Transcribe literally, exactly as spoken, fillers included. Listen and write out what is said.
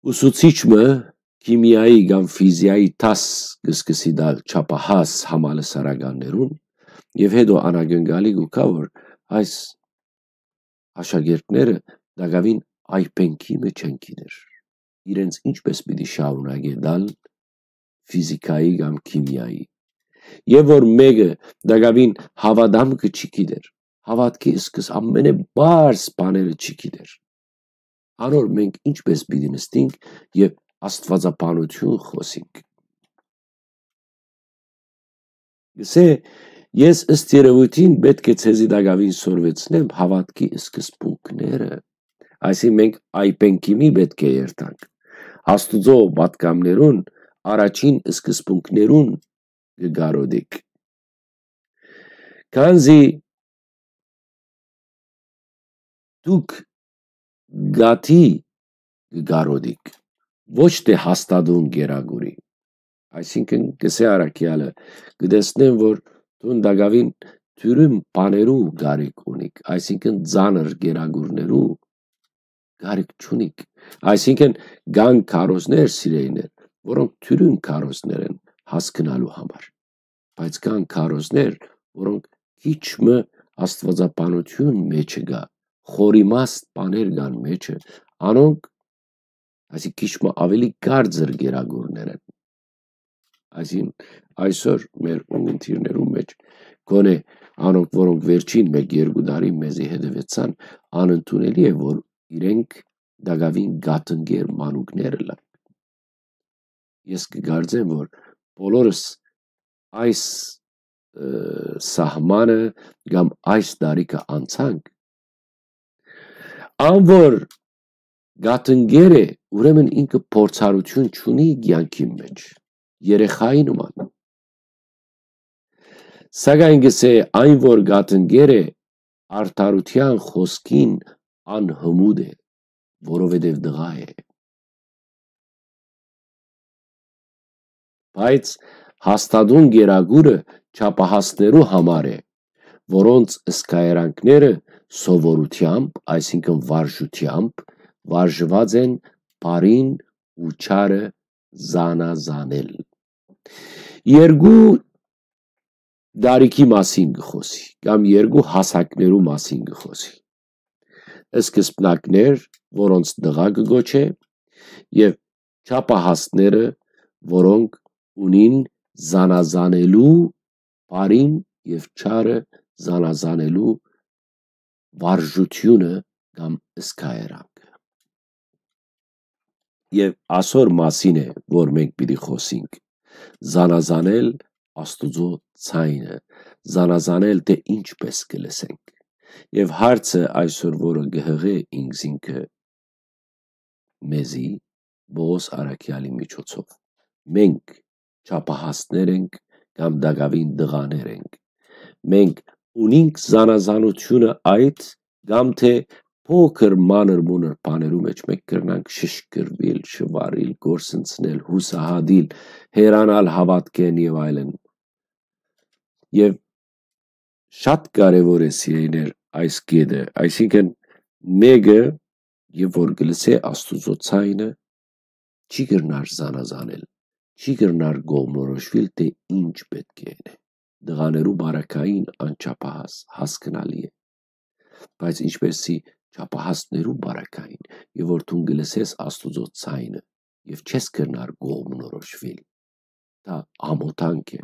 Ուսուցիչ մը քիմիայի կամ ֆիզիայի դաս կը սկսի տալ չափահաս համալսարաններուն, եւ հետո անակնկալի կու գայ, որ այս աշակերտները տակաւին այբենքի մը չեն գիտեր, իրենց ինչպես պիտի շարունակէ տալ ֆիզիքայի կամ քիմիայի, եւ որ մէկը տակաւին հաւատամքը չի գիտեր, հաւատքի սկս ամենէ բարձ բաները չի գիտեր, անոր մենք ինչպես պիտի նստինք եւ աստուածաբանություն խօսինք։ Գսե, ես ըստ երեւոյթին պէտք է ձեզի տակաւին սորվեցնեմ հաւատքի սկզբունքները, այսինքն մենք այբենքի մի պէտք է երթանք, Աստուծոյ պատգամներուն առաջին սկզբունքներուն կը կարօտիք, քանզի դուք գաթի կը կարօտիք, ոչ թէ հաստատուն կերակուրի։ Այսինքն, կսէ առաքեալը, կը տեսնեմ, որ դուն տակաւին դիւրին բաներու կարիք ունիք, այսինքն, ծանր կերակուրներու կարիք չունիք։ Այսինքն, կան քարոզներ, սիրելիներ, որոնք դիւրին քարոզներ են հասկնալու համար, բայց կան քարոզներ, որոնք քիչ մը աստուածաբանություն մեջը կայ, խորիմաստ բաներ կան մեջը, անոնք, այսինքն, քիչ մը աւելի կարծր կերակուրներ են։ Այսինքն, այսօր մեր ունկնդիրներու մէջ, գոնէ անոնք, որոնք վերջին մէկ-երկու տարի մեզի հետեւեցան, անընդունելի է, որ իրենք տակաւին գաթնկեր մանուկներ ըլլան։ Ես կը կարծեմ, որ բոլորս այս, ը, սահմանը կամ այս տարիքը անցանք, ան որ գաթնկեր է, ուրեմն ինքը փորձառություն չունի կեանքին մէջ, երեխայի նման։ Սակայն կսէ, այն որ գաթնկեր է, արդարութեան խօսքին անհմուտ է, որովհետեւ տղայ է։ Բայց հաստատուն կերակուրը չափահասներու համար է, որոնց սկայերանքները սովորութեամբ, այսինքն վարժութեամբ, վարժուած են բարին ու չարը զանազանել։ Երկու տարիքի մասին կը խօսի, կամ երկու հասակներու մասին կը խօսի։ Սկզբնակներ, որոնց տղայ կը կոչէ, եւ չափահասները, որոնք ունին զանազանելու, բարին եւ չարը զանազանելու վարժութիւնը կամ սկայերանքը։ Եւ ասոր մասին է, որ մենք պիտի խօսինք, զանազանել Աստուծոյ ձայնը, զանազանել, թէ ինչպես կը լսենք։ Եւ հարցը այսօր, որը կը յղէ ինքզինքը մեզի, Պողոս առաքեալի միջոցով, մենք չափահասներ ենք կամ տակաւին տղաներ ենք։ Մենք ունինք զանազանությունը այդ, կամ թէ փոքր մանր-մունր բաներու մէջ մենք կրնանք շշկրուիլ, շուարիլ, կորսնցնել, յուսահատիլ, հեռանալ հաւատքէն եւ այլն։ Եւ շատ կարեւոր է, սիրելիներ, այս կետը, այսինքն, մէկը, եւ որ կը լսէ Աստուծոյ ձայնը, չի կրնար զանազանել, չի կրնար կողմնորոշուիլ, թէ ինչ պէտք է ընէ։ Տղաներու բարակային անչափահաս, հասկնալի է, բայց ինչպեսի չափահասներու բարակային, եւ որ դուն կը լսես Աստուծոյ ձայնը, եւ չես կրնար կողմնորոշուիլ, դա ամօթանք է,